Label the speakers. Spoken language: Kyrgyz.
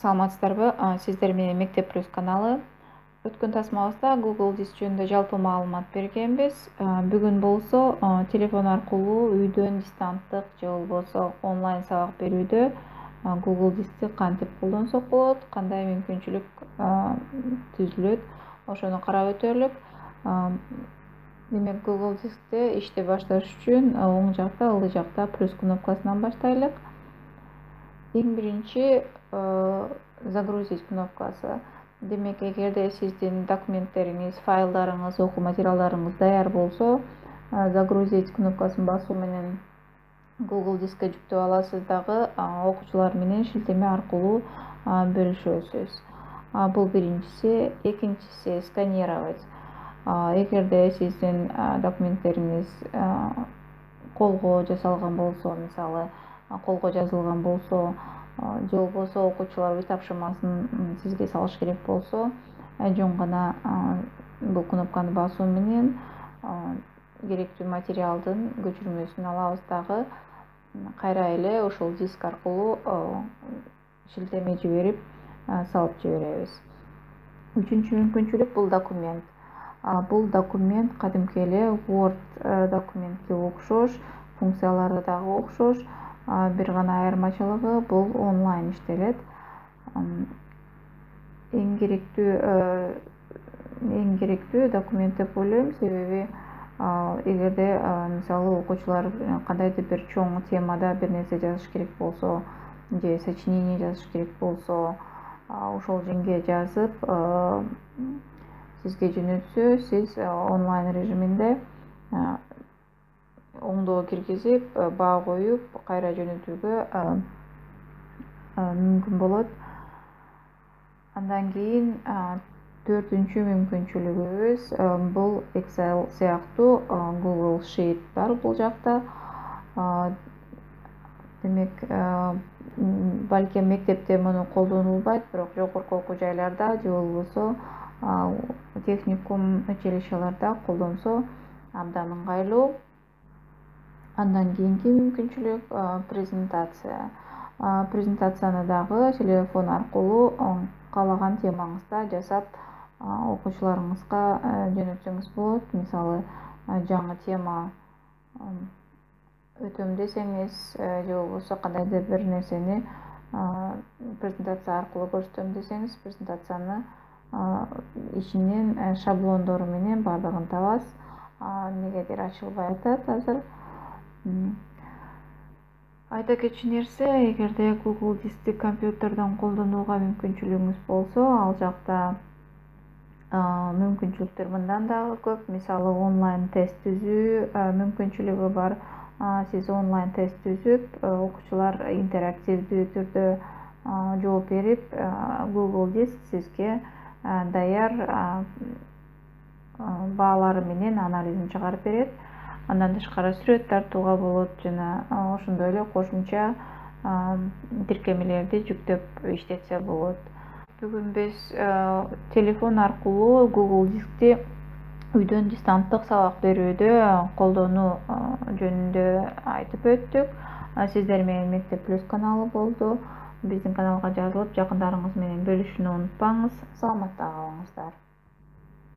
Speaker 1: Саламатсыздарбы? Сиздер менен Мектеп Плюс каналы. Өткөн тасмабызда Google Диск жөнүндө жалпы маалымат бергенбиз. Бүгүн болсо телефон аркылуу үйдөн дистанттык же болбосо онлайн сабак берүүдө Google Дискти кантип колдонсок болот, кандай мүмкүнчүлүк түзүлөт, ошону карап өтөлүк. Демек, Google Дискте иштеп башташ үчүн оң жакта, ылдый жакта плюс кнопкасынан баштайлык. Эң биринчи загрузить кнопкасы. Демек, эгерде сиздин документтериңиз, файлдарыңыз, окуу материалдарыңыз даяр болсо, загрузить кнопкасын басуу менен Google Дискке жүктөп аласыз дагы окуучулар менен шилтеме аркылуу бөлүшөсүз. Бул биринчиси. Экинчиси сканировать. Эгерде сиздин документтериңиз колго жасалган болсо, мисалы колго жазылган болсо, же болбосо окуучулар үй тапшырмасын сизге салыш керек болсо, жөн гана бул кнопканы басуу менен керектүү материалдын көчүрмөсүн алабыз дагы кайра эле ошол диск аркылуу шилтеме жиберип салып жиберебиз. Үчүнчү мүмкүнчүлүк бул документ. Бул документ кадимки эле Word документке окшош, функциялары дагы окшош. Бир гана айырмачылыгы бул онлайн иштелет. Эң керектүү документ деп ойлойм, себеби эгерде мисалы окуучулар кандайдыр бир чоң темада бир нерсе жазыш керек болсо, же сочинение жазыш керек болсо, ошол жерге жазып сизге жөнөтсө, сиз онлайн режиминде оңдоо киргизип, баа коюп, кайра жөнөтүүгө мүмкүн болот. Андан кийин төртүнчү мүмкүнчүлүгүбүз бул Excel сыяктуу Google Sheet бар бул жакта. Демек, балким мектепте муну колдонулбайт, бирок жогорку окуу жайларда же болбосо техникум училищелерде колдонсо абдан ыңгайлуу. Андан кийинки мүмкүнчүлүк презентация. Презентацияны дагы телефон аркылуу каалаган темаңызда жасап окуучуларыңызга жөнөтсөңүз болот. Мисалы, жаңы тема өтөм десеңиз, же болбосо кандайдыр бир нерсени презентация аркылуу көрсөтөм десеңиз, презентацияны ичинен шаблондору менен бардыгын табасыз. Негедир ачылбай атат азыр. Айта кетчү нерсе, эгерде Google Дискти компьютерден колдонууга мүмкүнчүлүгүңүз болсо, ал жакта мүмкүнчүлүктөр мындан дагы көп. Мисалы, онлайн тест түзүү мүмкүнчүлүгү бар. Сиз онлайн тест түзүп, окуучулар интерактивдүү түрдө жооп берип, Google Диск сизге даяр баалары менен анализин чыгарып берет. Андан тышкары сүрөт тартууга болот жана ошондой эле кошумча тиркемелерди жүктөп иштетсе болот. Бүгүн биз телефон аркылуу Google Дискти үйдөн дистанттык сабак берүүдө колдонуу жөнүндө айтып өттүк. Сиздер менен Мектеп Плюс каналы болду. Биздин каналга жазылып, жакындарыңыз менен бөлүшүүнү унутпаңыз. Саламатта калыңыздар.